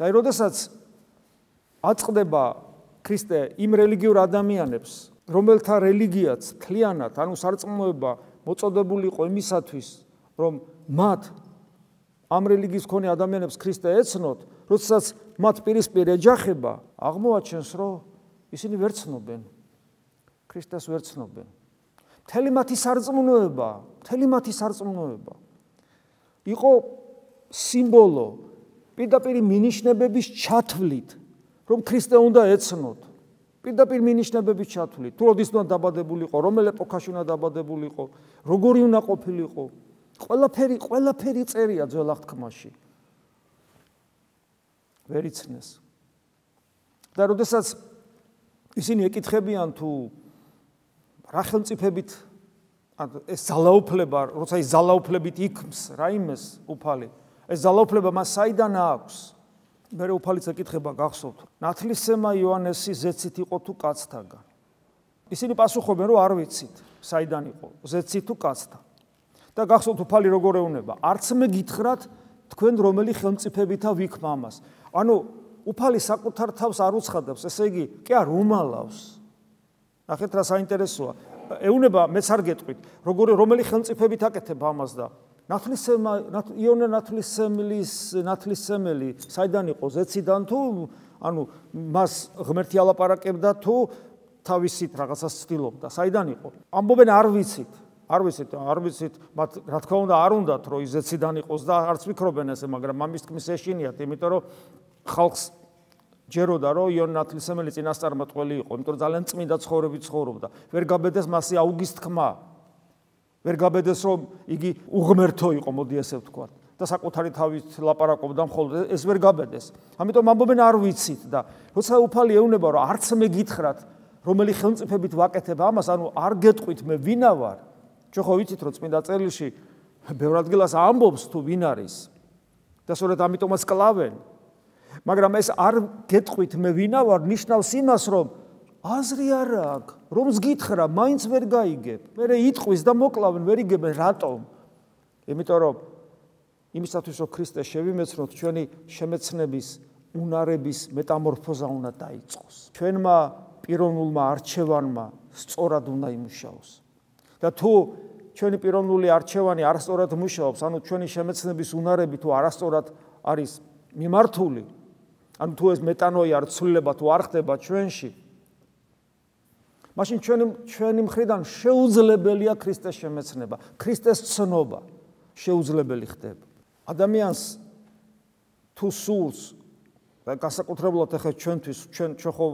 და როდესაც აწყდება ქრისტე იმ რელიგიურ ადამიანებს, რომელთა რელიგიაც თლიანად, ანუ სარწმუნოება მოწოდებული იყო იმისათვის, რომ მათ ამ რელიგიის მქონე ადამიანებს ქრისტე ეცნოთ, როდესაც მათ პირისპირ ეჯახება, აღმოაჩენს, რომ ისინი ვერ ცნობენ, ქრისტეს ვერ ცნობენ. მთელი მათი სარწმუნოება იყო სიმბოლო პირდაპირ მინიშნებების ჩათვლით, რომ ქრისტე უნდა ეცნოთ. პირდაპირ მინიშნებების ჩათვლით, თუ როდის უნდა დაბადებული იყო, რომელ ეპოქაში უნდა დაბადებული იყო, როგორი უნდა ყოფილიყო, ყველაფერი წერია ძველ აღთქმაში. ვერ იცნეს. და როდესაც ისინი ეკითხებიან თუ რა ხელმწიფებით ეს ძალაუფლება, როცა ის ძალაუფლებით იქმს რაიმეს უფალი, ეს ძალაუფლება მას საიდან აქვს? მერე უფალიც ეკითხება გახსოვთ, ნათლისმცემა იოანესი ზეცით იყო თუ კაცთაგან? ისინი პასუხობენ, რომ არ ვიცით, საიდან იყო, ზეცით თუ კაცთან. და გახსოვთ უფალი როგორ ეუბნება, არც მე გითხრათ თქვენ რომელი ხელმწიფებითა ვიქმ ამას. ანუ უფალი საკუთარ თავს არ უცხადებს, ესე იგი, კი არ უმალავს. ნახეთ რა საინტერესოა. ეუბნება, მეც არ გეტყვით, რომელი ხელმწიფებით აკეთებ ამას და იონე ნათლისმცემელი საიდან იყო, ზეციდან თუ ანუ მას ღმერთი ალაპარაკებდა თუ თავისით რაღაცას ცდილობდა, საიდან იყო? ამბობენ არ ვიცით, მათ რა თქმა უნდა არ უნდათ რომ ის ზეციდან იყოს და არც ვიქრობენ ესე, მაგრამ ამის თქმის ეშინიათ, იმიტომ რომ ხალხს ჯეროდა რომ იონე ნათლისმცემელი წინასწარმეტყველი იყო, იმიტომ რომ ძალიან წმინდა ცხოვრებით ცხოვრობდა. ვერ გაბედეს მასზე აუგის თქმა. ვერ გაბედეს რომ იგი უღმერთო იყო, მოდი ესე ვთქვათ, და საკუთარი თავით ლაპარაკობდა მხოლოდ, ეს ვერ გაბედეს. ამიტომ ამბობენ არ ვიცით და როცა უფალი ეუბნება რომ არც მე გითხრათ რომელი ხელმწიფებით ვაკეთებ ამას, ანუ არ გეტყვით მე ვინა ვარ. ჩვენ ხო ვიცით რომ წმინდა წერილში ბევრ ადგილას ამბობს თუ ვინ არის და სწორედ ამიტომაც კლავენ. მაგრამ ეს არ გეტყვით მე ვინა ვარ ნიშნავს იმას, რომ აზრი არ აქვს, რომს გითხრა, მაინც ვერ გაიგებ. მერე იტყვის და მოკლავენ, ვერ იგებენ რატომ? იმიტომ რომ იმისათვის რომ ქრისტე შევიმეცნოთ, ჩვენი შემეცნების უნარების მეტამორფოზა უნდა დაიწყოს. ჩვენმა პიროვნულმა არჩევანმა სწორად უნდა იმუშაოს. და თუ ჩვენი პიროვნული არჩევანი არასწორად მუშაობს, ანუ ჩვენი შემეცნების უნარები თუ არასწორად არის მიმართული, ანუ თუ ეს მეტანოია არ ცვლილება თუ არ ხდება ჩვენში, მაშინ ჩვენი მხრიდან შეუძლებელია ქრისტეს შემეცნება, ქრისტეს ცნობა შეუძლებელი ხდება. ადამიანს თუ სურს და განსაკუთრებულად ახლა ჩვენთვის, ჩვენ ხო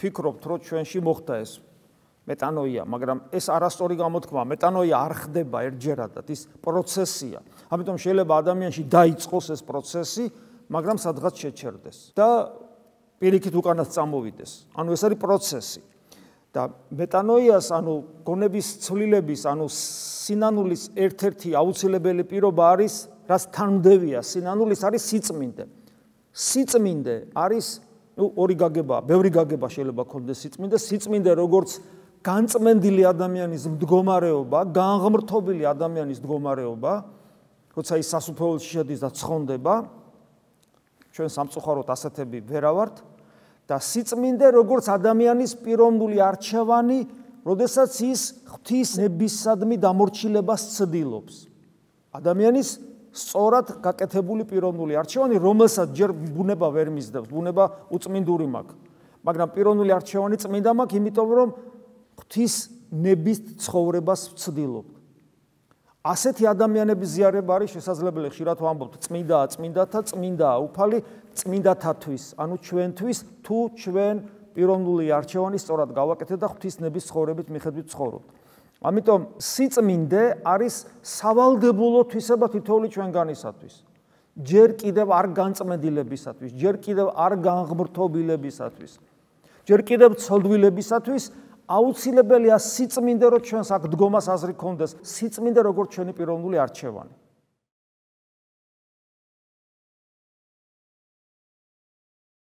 ფიქრობთ, რომ ჩვენში მოხდა ეს მეტანოია, მაგრამ ეს არასწორი გამოთქმა, მეტანოია არ ხდება ერთჯერადად, ის პროცესია. ამიტომ შეიძლება ადამიანში დაიწყოს ეს პროცესი, მაგრამ სადღაც შეჩერდეს და პირიქით უკანაც წამოვიდეს. ანუ ეს არის პროცესი. და მეტანოიას, ანუ გონების ცვლილების, ანუ სინანულის ერთ-ერთი აუცილებელი პირობა არის, რაც თანმდევია სინანულის, არის სიწმინდე. სიწმინდე არის, ორი გაგება, ბევრი გაგება შეიძლება ქონდეს სიწმინდე. სიწმინდე როგორც განწმენდილი ადამიანის მდგომარეობა, განღმრთობილი ადამიანის მდგომარეობა, როცა ის სასუფეველში შედის და ცხონდება, ჩვენ სამწუხაროდ ასეთები ვერავართ. და სიწმინდე როგორც ადამიანის პიროვნული არჩევანი, როდესაც ის ღვთისნებისადმი დამორჩილებას ცდილობს. ადამიანის სწორად გაკეთებული პიროვნული არჩევანი, რომელსაც ჯერ ბუნება ვერ მისდევს, ბუნება უწმინდური მაქვს, მაგრამ პიროვნული არჩევანი წმინდა მაქვს, იმიტომ რომ ღვთისნების ცხოვრებას ვცდილობ. ასეთი ადამიანების ზიარება არის შესაძლებელი, ხშირად ვამბობთ, წმინდათა უფალი წმინდათათვის, ანუ ჩვენთვის, თუ ჩვენ პიროვნული არჩევანი სწორად გავაკეთეთ და ღვთისნების ცხოვრებით მიხედვით ცხოვრობთ. ამიტომ სიწმინდე არის სავალდებულო თვისება თითოეული ჩვენგანისათვის. ჯერ კიდევ არ განწმენდილებისათვის, ჯერ კიდევ არ განღმრთობილებისათვის, ჯერ კიდევ ცოდვილებისათვის აუცილებელია სიწმინდე, რომ ჩვენს აქ დგომას აზრი ქონდეს, სიწმინდე როგორც ჩვენი პიროვნული არჩევანი.